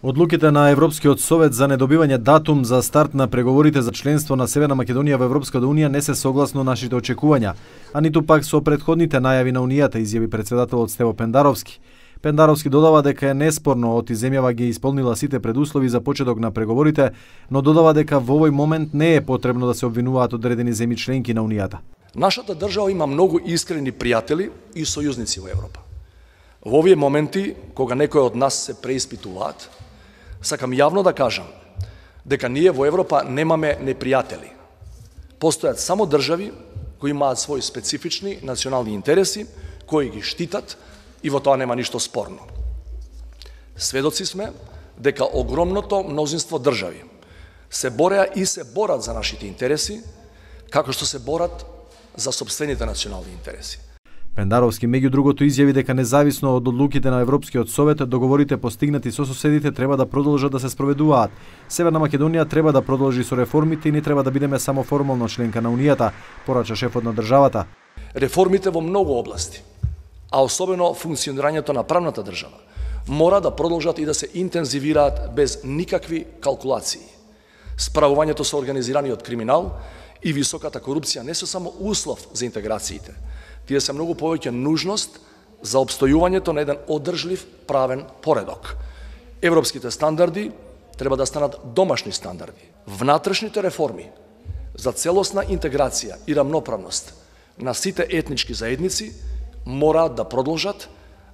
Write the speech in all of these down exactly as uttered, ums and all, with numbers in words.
Одлуките на Европскиот совет за недобивање датум за старт на преговорите за членство на Северна Македонија во Европската унија не се согласно нашите очекувања, а ниту пак со претходните најави на унијата, изјави претседателот Стево Пендаровски. Пендаровски додава дека е неспорно оти земјава ги исполнила сите предуслови за почеток на преговорите, но додава дека во овој момент не е потребно да се обвинуваат одредени земји членки на унијата. Нашата држава има многу искрени пријатели и сојузници во Европа. Во овие моменти, кога некои од нас се преиспитуваат, сакам јавно да кажам дека ние во Европа немаме непријатели. Постојат само држави кои имаат своји специфични национални интереси, кои ги штитат и во тоа нема ништо спорно. Сведоци сме дека огромното мнозинство држави се бореа и се борат за нашите интереси, како што се борат за сопствените национални интереси. Пендаровски меѓу другото изјави дека независно од одлуките на Европскиот совет, договорите постигнати со соседите треба да продолжат да се спроведуваат. Северна Македонија треба да продолжи со реформите и не треба да бидеме само формално членка на унијата, порача шефот на државата. Реформите во многу области, а особено функционирањето на правната држава, мора да продолжат и да се интензивираат без никакви калкулации. Справувањето со организираниот криминал и високата корупција не се само услов за интеграциите, тие се многу повеќе нужност за обстојувањето на еден одржлив правен поредок. Европските стандарди треба да станат домашни стандарди. Внатрешните реформи за целосна интеграција и рамноправност на сите етнички заедници мораат да продолжат,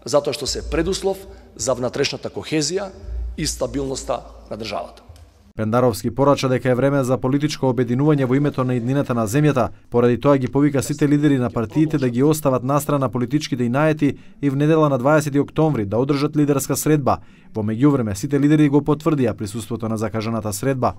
затоа што се предуслов за внатрешната кохезија и стабилноста на државата. Пендаровски порача дека е време за политичко обединување во името на иднината на земјата, поради тоа ги повика сите лидери на партиите да ги остават настрана политичките инаети и в недела на дваесети октомври да одржат лидерска средба. Во меѓувреме сите лидери го потврдија присуството на закажаната средба.